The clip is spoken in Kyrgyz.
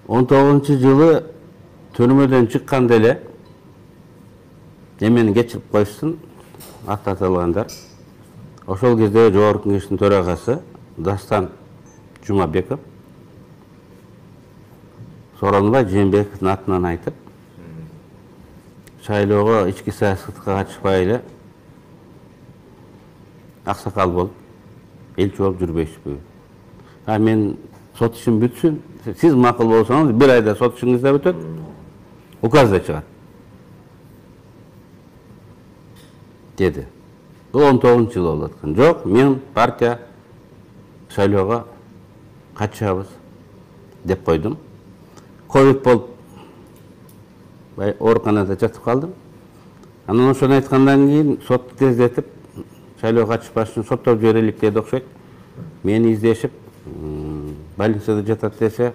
19-жылы түрмөдөн чыкканда эле эмени кечирип коюшсун аттатылгандар. Ошол кезде Жогорку Кеңештин төрагасы Дастан Жумабеков Сооронбай Жээнбековдун атынан айтып, шайлоого ички саясатка катышпай эле аксакал болуп, элчи болуп жүрбөйсүзбү? Мен сот ишим бүтсүн, сиз макул болсоңуз, бир айда сот ишиңиз да бүтөт, указ да чыгат. Деди. Бул 19-жыл болуп аткан. Жок, мен партия шайлоого катышабыз деп койдум. Ковид болуп ооруканада жатып калдым. Анан ошону айткандан кийин сот тездетип, шайлоого катышпаш үчүн соттоп жиберелик деди окшойт. Мени издешип, больницада жатат десе,